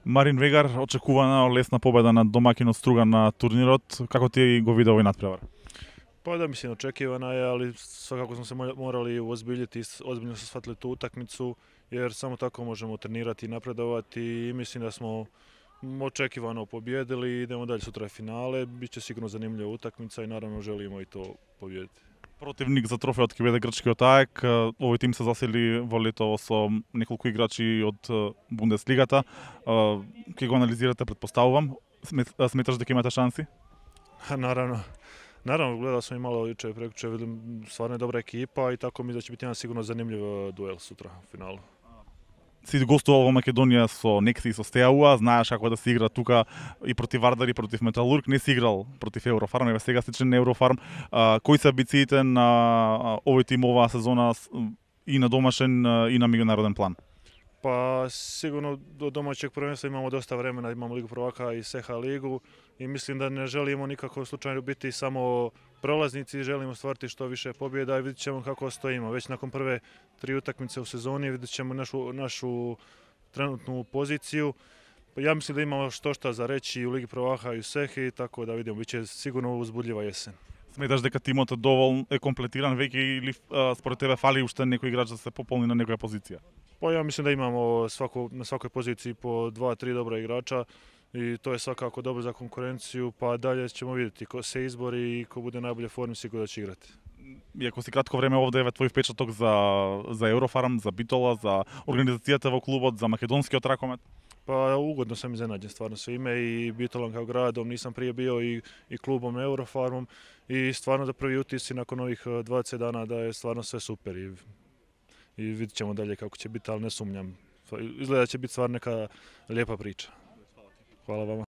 Марин Вегар, очекувана лесна победа над домакинот Струга на турнирот. Како ти го виде овој натпревар? Pa da, mislim, očekivana je, ali svakako smo se morali uozbiljiti, ozbiljno se shvatili tu utakmicu, jer samo tako možemo trenirati i napredovati i mislim da smo očekivano pobjedili i idemo dalje, sutra je finale, bit će sigurno zanimljiva utakmica i naravno želimo i to pobijediti. Противник за трофеот ќе биде грчкиот АЕК. Овој тим се засели во летово со неколку играчи од Бундеслигата. Ќе го анализирате, предпоставувам. Сметаш дека имате шанси? Naravno, gledao sam i malo juče, prekjuče, vidim, stvarno je dobra ekipa i tako mi da će biti jedan sigurno zanimljiv duel sutra u finalu. Си гостувал во Македонија со Некси и со Стеауа, знаеш како да се игра тука и против Вардар и против Металург, не си играл против Еврофарм, еве сега си член на Еврофарм. Кои се амбициите на овој тим оваа сезона и на домашен и на меѓународен план? Pa sigurno do domaćeg prvenstva imamo dosta vremena, imamo Ligu prvaka i SEHA ligu i mislim da ne želimo nikako slučajno biti samo prolaznici, želimo stvariti što više pobjeda i vidit ćemo kako stojimo. Već nakon prve 3 utakmice u sezoni vidit ćemo našu trenutnu poziciju. Ja mislim da imamo što za reći u Ligi prvaka i u SEHI, tako da vidimo, bit će sigurno uzbudljiva jesen. Сметаш дека тимот е комплетиран веќе или според тебе фали уште некој играч да се пополни на некоја позиција? Pa ja mislim da imamo na svakoj poziciji po 2-3 dobra igrača i to je svakako dobro za konkurenciju, pa dalje ćemo vidjeti ko se izbori i ko bude najbolje formi sigurno da će igrati. Иако си кратко време овде е твој впечаток за Еврофарм, за Битола, за организацијата во клубот, за македонскиот ракомет? Pa ugodno sam iznenađen stvarno svime i Bitolom kao gradom, nisam prije bio i klubom Eurofarmom i stvarno da prvi utisci nakon ovih 20 dana da je stvarno sve super i vidit ćemo dalje kako će biti, ali ne sumnjam. Izgleda da će biti stvarno neka lijepa priča. Hvala vama.